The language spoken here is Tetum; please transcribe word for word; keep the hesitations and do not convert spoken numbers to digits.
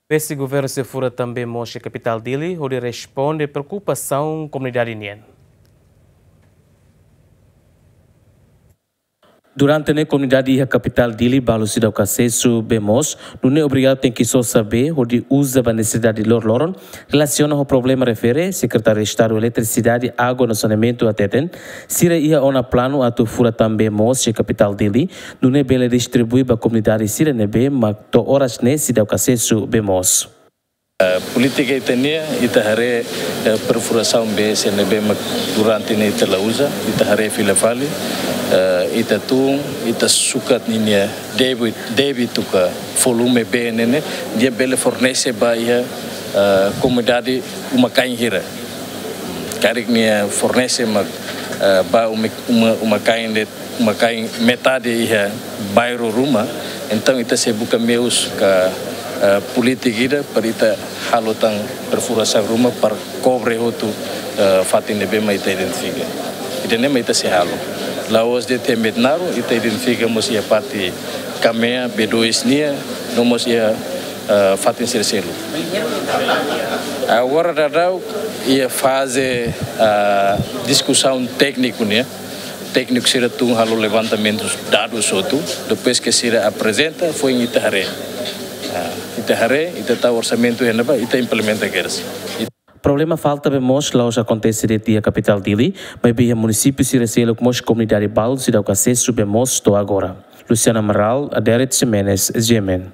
Pese governu sei fura tan bee moos iha kapitál Dili hodi responde preokupasaun komunidade nian. Durante ne'e komunidade iha kapitál Dili balu seidauk asesu bee moos, nune'e obrigadu tenke sosa bee hodi uza ba nesesidade loroloron. Relasiona ho problema refere, Sekretáriu Estadu Eletrisidade, Água no Saneamentu hateten, sira iha ona planu atu fura tan bee moos iha kapitál Dili, nune'e bele distribui ba komunidade sira ne'ebé mak to'o oras ne'e seidauk asesu bee moos. Eh, polítika ita-nian, ita haree, eh, perfurasaun bee sira ne'ebé mak durante ne'e ita la uza, ita haree fila fali, eh, ita tun, ita sukat ninia debi, debitu ka volume bee ne'e ne'e, nia bele fornese ba iha, eh, komunidade uma-kain hira. Karik nia fornese mak, eh, ba uma, uma, uma-kain de'it, uma-kain metade iha bairru ruma, entaun ita sei buka meius ka, eh, polítika ida para ita halo tan perfurasaun ruma para kobre hotu, eh, fatin ne'ebé mak ita identifika. Ida-ne'e mak ita sei halo. La'ós de'it iha Metinaro, ita identifika mós iha parte Kamea, B dois nian, no mós iha, eh, fatin sira seluk. Agora daudaun iha faze, eh, diskusaun tékniku nian. Tékniku sira tun halo levantamentu dadus hotu, depois ke sira aprezenta, foin ita haree. Ah, ita haree, ita tau orsamentu iha ne'ebá, ita implementa kedas. Problema falta bee moos la'ós akontese de'it iha kapitál Dili, maibé iha munisípiu sira seluk mós komunidade balu seidauk asesu bee moos to'o agora. Luciano Amaral, Aderet Ximenes, G M N.